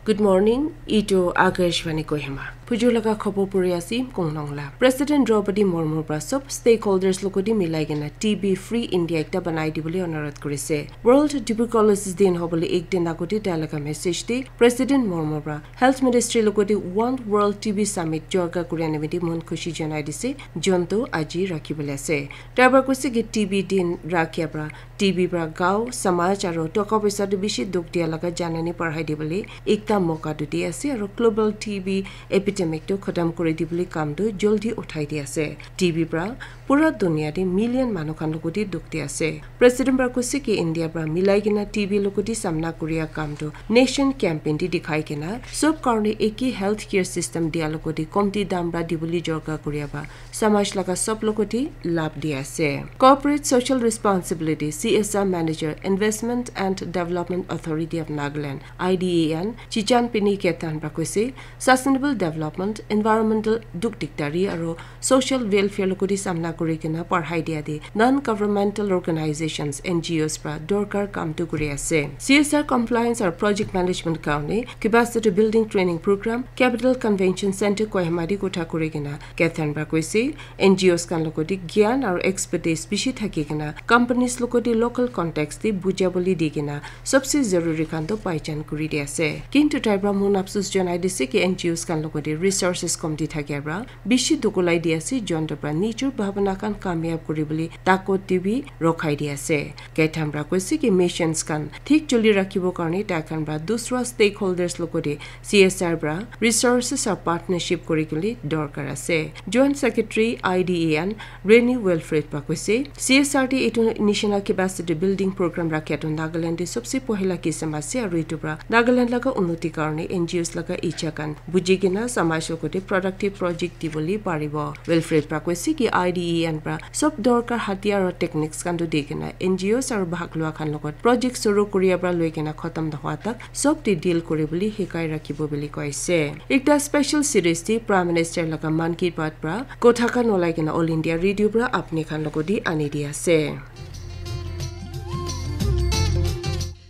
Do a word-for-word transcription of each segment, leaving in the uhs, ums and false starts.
Good morning, itu Akashvani Kohima. Phujur laga khobor puri ase, Kongnong la. President Draupadi Murmu pra sob stakeholders logoti milai kena T B free India ekta banai dibole onurodh kurise. World Tuberculosis Din hobole ek din agoti tai laga message te President Murmu pra Health Ministry logoti One World T B Summit jorga kuria nimite mon khushi janai dise, jonto aji rakhibole ase. Tai pra koise ki T B din rakhia pra T B pra gao, samaj aro toka poisa tu bishi dukh dia laga janani parhai dibole ekta moka tu di ase aro global T B epidemic tu khatam kuri dibole kam tu joldi uthai di ase. T B pra pura dunia te million manu khan logoti dukh di ase. President pra koise ki India pra milai kena T B logoti samna kuria kam tu nation campaign di dikhai kena sob karne eki healthcare system dia logoti komti dam pra dibole jorga kuria ba samaj laga sob logoti labh di ase. Corporate Social Responsibility, C S R Manager, Investment and Development Authority of Nagaland, I D A N, Chichan Pini Ketan pra koise, sustainable development, environmental dukh dikdari aro social welfare logoti samna kuri kena parhai dia de non-governmental organizations, N G Os pra dorkar kam tu kuri ase. C S R compliance aro project management karne capacity building training program, Capital Convention Center Kohima di kotha kuri kena Ketan pra koise, N G Os khan logoti gyan aro expertise bishi thaki kena companies logoti local context te buja bole di kena sobse zaruri khan to paichan kuri di ase. Kintu tai pra mon afsus janai dise ki N G Os khan logoti resources komti thakia pra bishi dukulai di ase, jonto pra nijor bhabana khan kamyab kuri bole takot te bi rokhai di ase. Ketan pra koise ki missions khan thik choli rakhibo karne tai khan pra dusra stakeholders logoti C S R pra resources aro partnership kuri kuli dorkar ase. Joint Secretary I D A N Reni Wilfred pra koise, C S R te etu nishina capacity building program rakhia tu Nagaland te sobse pohila kisam ase aro etu pra Nagaland laga unnoti karne N G Os laga icha khan buji kena samaj logoti productive project dibole paribo. Wilfred pra koise ki I D A N pra sob dorkar hatiyar aro techniques khan tu di kena N G Os aro bhag lua khan logot project suru kuria pra loi kena khatam nohwa tak sob te deal kuri bole hikai rakhibo bole koise. Ekta special series te Prime Minister laga Mann Ki Baat pra kotha khan olai kena All India Radio pra apni khan logoti ani di ase.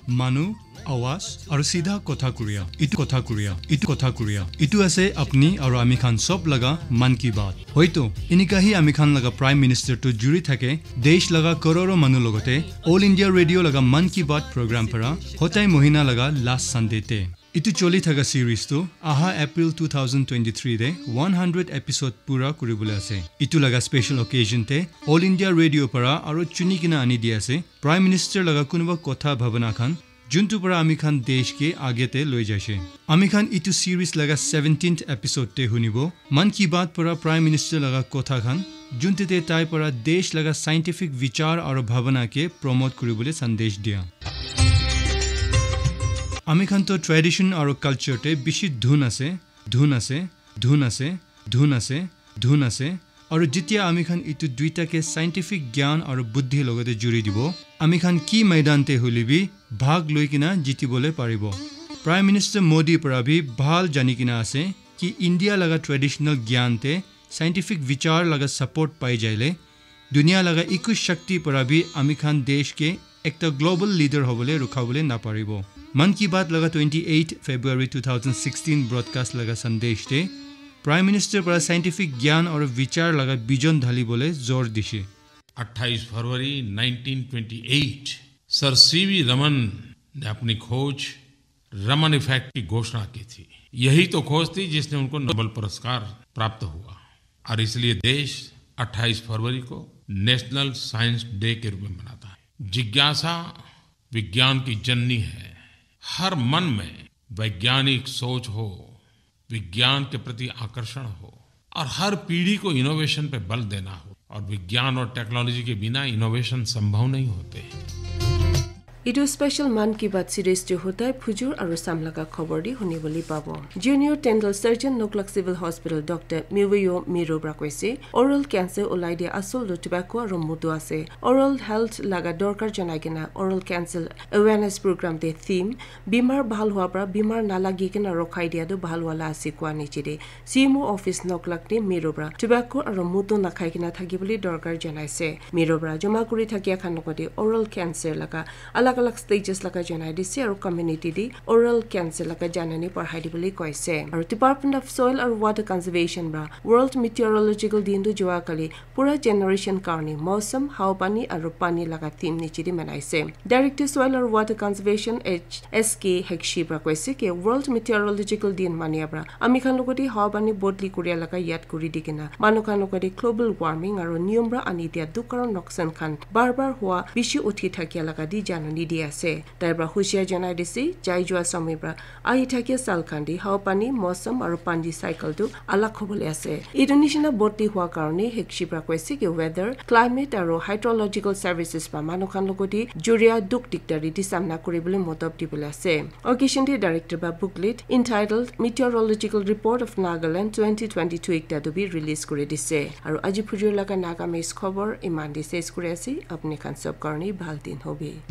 Manu, awaz, aru sidha kotha kuria, itu kotha kuria, itu kotha kuria, itu ase apni aru ami khan sob laga Mann Ki Baat. Hoito, enika hi ami khan laga Prime Minister tu juri thake, desh laga kororo manu logote, All India Radio laga Mann Ki Baat program para, hotai mohina laga last Sunday te. Itu choli thaka series tu aha April two thousand twenty-three de one hundred episode pura kuribole ase. Itu laga special occasion te All India Radio para aro chuni kena ani di ase Prime Minister laga kunuba kotha bhabana khan, juntu para ami khan desh ke age te loi jaise. Ami khan itu series laga seventeenth episode te hunibo. Mann Ki Baat para Prime Minister laga kotha khan, junte te tai para desh laga scientific vichar aro bhabana ke promote kuribole sandesh dia. Ami khan to tradition aro culture te bishi dhun ase, dhun ase, dhun ase, dhun ase, dhun ase. Aro jitia ami khan itu duita ke scientific gyan aro buddhi logote juri dibo, ami khan ki maidan te huli bi bhag loi kena jitibole paribo. Prime Minister Modi para bi bhal jani kena ase ki India laga traditional gyan te scientific vichar laga support pai jaile, dunia laga eku shakti para bi ami khan desh ke ekta global leader hobole rukhabole naparibo. Mann Ki Baat laga twenty-eight February two thousand sixteen broadcast laga sandesh te Prime Minister para scientific gyan aru vichar laga vision dhalibole zor dishe. अट्ठाईस फरवरी nineteen twenty eight sir C V Raman ने अपनी खोज रमन इफेक्ट की घोषणा की थी। यही तो खोज थी जिसने उनको नोबेल पुरस्कार प्राप्त हुआ। और इसलिए देश अट्ठाईस फरवरी को नेशनल साइंस डे के रूप में मनाता है। जिज्ञासा विज्ञान की जननी है। हर मन में वैज्ञानिक सोच हो, विज्ञान के प्रति आकर्षण हो और हर पीढ़ी को इनोवेशन पे बल देना हो, और विज्ञान और टेक्नोलॉजी के बिना इनोवेशन संभव नहीं होते। Etu special Mann Ki Baat series tu hodai phujur aru sam laga khobor di huni bole pabo. Junior Dental Surgeon Noklak Civil Hospital Doctor Miweo Miro para koise, oral cancer ulai dia asol tu tobacco aru mudu ase. Oral health laga dorkar janai kena oral cancer awareness program te theme, bimar bhal hua para bimar nalagi kena rokhai dia tu bhal wala ase koa niche te C M O office Noklak te Miro para tobacco aru mudu nakhai kena thaki bole dorkar janai ase. Miro para joma kuri thakia khan logote oral cancer laga alag alak stages laga janai dise aru community te oral cancer laga janani parhai dibole koise. Aru Department of Soil aru Water Conservation para World Meteorological Din tu jua kali pura generation karni mausam, hawa pani aru pani laga theme niche te manaise. Director Soil aru Water Conservation H S K Hekshi para koise ke World Meteorological Din mania para ami khan logote hawa pani bodli kuria laga yad kuri di kena manu khan logote global warming aru niyom para ani dia dukh aru noksan khan bar bar hua bishi uthi thakia laga di janani di ase. Tai para hushia janai dise, jai jua samay para ahi thakia sal khan di hawa pani, mausam aru pani cycle tu alak hobole ase. Etu nishina bodli hua karne Hekshi para koise ke weather, climate aru hydrological services para manu khan logote juria dukh dikdari di samna kuribole motob dibole ase. Occasion te director para booklet entitled Meteorological Report of Nagaland twenty twenty-two ekta tu bi release kuri dise. Aru aji phujur laga Nagamese khobor iman te ses kuri ase. Apni khan sob karne bhal din hobi.